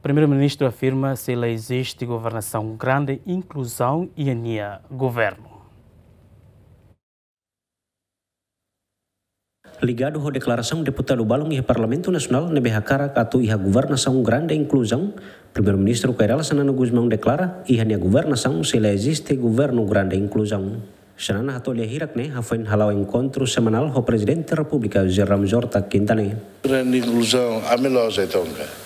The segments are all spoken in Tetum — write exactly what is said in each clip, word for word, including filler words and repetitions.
Primeiru-Ministru afirma sei la eziste governasaun grande inkluzaun iha nia governu. Ligadu ho deklarasaun deputadu balun iha Parlamentu Nasionál ne'ebé hakarak atu iha governasaun grande inkluzaun, Primeiru-Ministru Kay Rala Xanana Gusmão deklara, iha nia governasaun sei la eziste governu grande inkluzaun. Xanana hato'o lia hirak ne'e hafoin hala'o enkontru semanál ho Prezidente Repúblika José Ramos Horta Quinta ne'e. Grande inkluzaun, ami la'ós Ai-Tonka.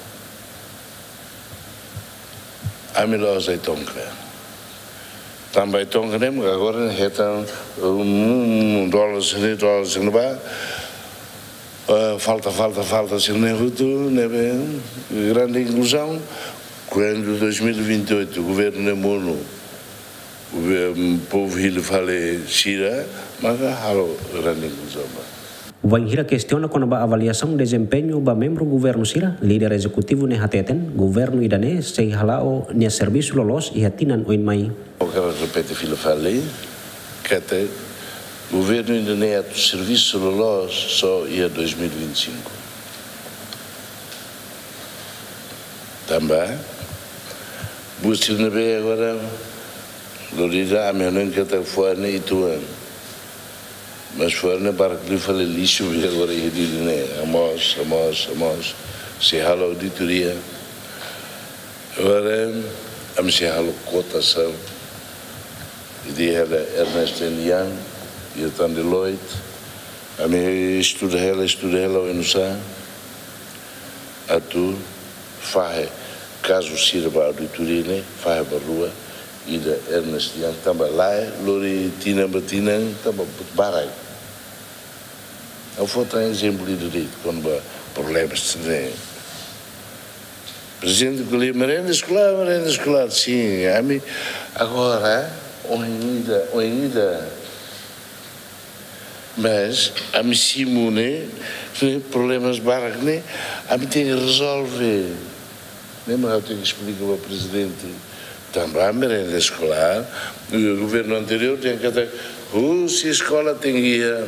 Ami la'ós Ai-Tonka. Tanba Ai-Tonka ne'e, agora ne'e hetan, um, um, um dólar sini, dólar sini ba, eh, falta, falta, falta, sini ne'e hotu, ne'ebé, grande inkluzaun, kuandu dois mil e vinte e oito, governu ne'e monu, governu, povu hili fali sira, maka halo grande inkluzaun ba. Wainhira kestiona kona-ba avaliasaun dezempeñu ba membru governu sira, líder ezekutivu ne'e hateten, governu ida-ne'e sei hala'o nia servisu loloos iha tinan oin mai. Ha'u hakarak repete fila fali, katak governu ida-ne'e atu servisu loloos só iha dois mil e vinte e cinco. Tanba, buat sira ne'ebé agora, lori ida ami hanoin katak fuan ne'e uitoan. Mas fuan ne'e barak liu fali lixu, be agora iha Dili ne'e. Hamoos, hamoos, hamoos. Sei halo auditoria. Agora, ami sei halo kotasaun. Ida hela Ernst and Young, ida tan Deloitte. Ami estuda hela, estuda hela, oinsá atu fahe kazu sira ba auditoria ne'e, fahe ba rua, ida Ernst Young, tanba lae, lori tinan ba tinan, tanba barak. Ha'u fó tan ezemplu ida de'it, kona-ba problemas ne'e. Prezidente ko'alia merenda eskolár, merenda eskolár, sin, ami agora, ohin ida, ohin ida, mas ami simu ne'e, ne'e problemas barak ne'e, ami tenke rezolve. Ne'e mak ha'u tenke esplika ba prezidente. Tanba merenda eskolár, governu anteriór tenke katak, husi eskola tenke iha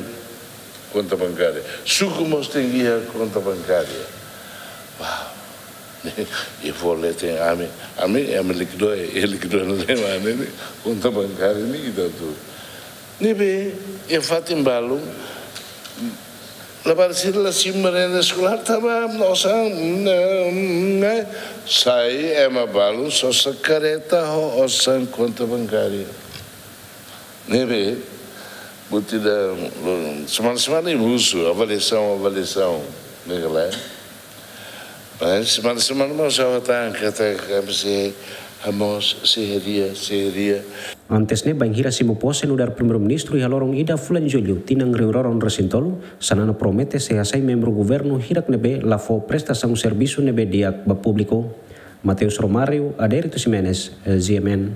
konta bankária. Suku mós tenke iha konta bankária. Uau! I fó leten ami, ami, ami likidó, i likidó na lema ne'e, konta bankária ne'e ita tu. Ne'ebé, iha fatin balun, labarik sira la simu merenda eskolár tanba osan, ne'e, ne'e, sai ema balun sosa kareta ho osan konta bankária. Ne'ebé, buat ida, semana-semana imi husu, avaliasaun, avaliasaun, ne'e ka lae. Mas semana-semana mós ha'u hatán katak ami sei hamoos, sei hadia, sei hadia. Antes ne'e, bainhira simu pose nu'udar Primeiru-Ministru iha loron ida fulan Jullu, tinan rihun rua ruanulu resin tolu, Xanana promete sei hasai membru governu hirak ne'ebé la fó prestasaun servisu ne'ebé di'ak ba públiku. Mateus Romário, Adérito Ximenes, G M N.